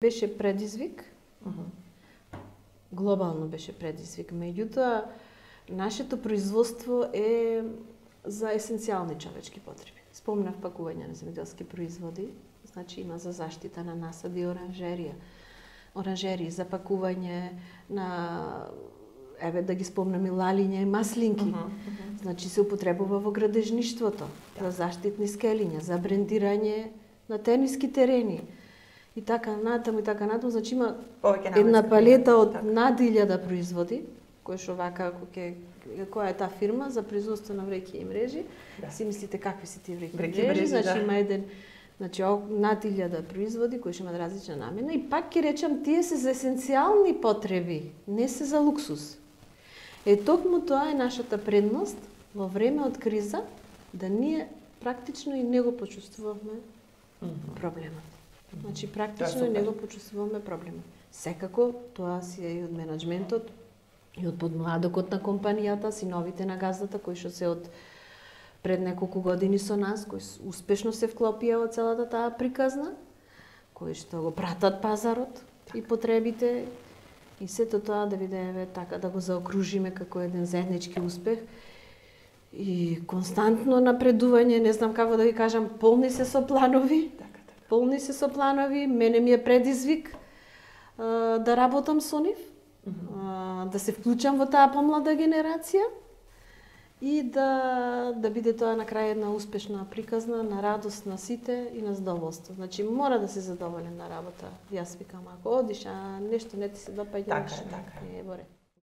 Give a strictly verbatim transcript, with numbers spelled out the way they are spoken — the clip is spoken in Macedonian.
Беше предизвик, uh -huh. глобално беше предизвик. Меѓутоа, нашето производство е за есенцијални човечки потреби. Спомнав пакување на земјоделски производи, значи има за заштита на насади и оранжерија. Оранжерии, за пакување на, еве да ги спомнам и лалиња и маслинки. Uh -huh, uh -huh. Значи се употребува во градежништвото, да. За заштитни скелиња, за брендирање на тениски терени. И така натаму и така натаму, значи има една палета од така. Над илјада производи, кои што вака, ќе, која е таа фирма за производство на вреќи и мрежи, да. Си мислите какви се тие вреќи и мрежи, значи да. Има еден, значи над илјада производи кои што имаат различна намена и пак ќе речам тие се за есенцијални потреби, не се за луксус. Е токму тоа е нашата предност во време од криза, да ние практично и не го почувствувавме mm -hmm. проблемот. Значи, практично и не го почувствуваме проблемот. Секако, тоа си е и од менеджментот, и од подмладокот на компанијата, синовите на газдата, кои што се од пред неколку години со нас, кои успешно се вклопија во целата таа приказна, кои што го пратат пазарот и потребите, и сето тоа да биде така да го заокружиме како еден заеднички успех. И константно напредување, не знам како да ви кажам, полни се со планови. Полни се со планови, мене ми е предизвик а, да работам со нив, mm -hmm. а, да се вклучам во таа помлада генерација и да, да биде тоа на крај една успешна приказна, на радост на сите и на задоволство. Значи, мора да се задоволен на работа. Јас викам, ако одиш, а нешто не ти се допаѓа, така, така. Не е боре.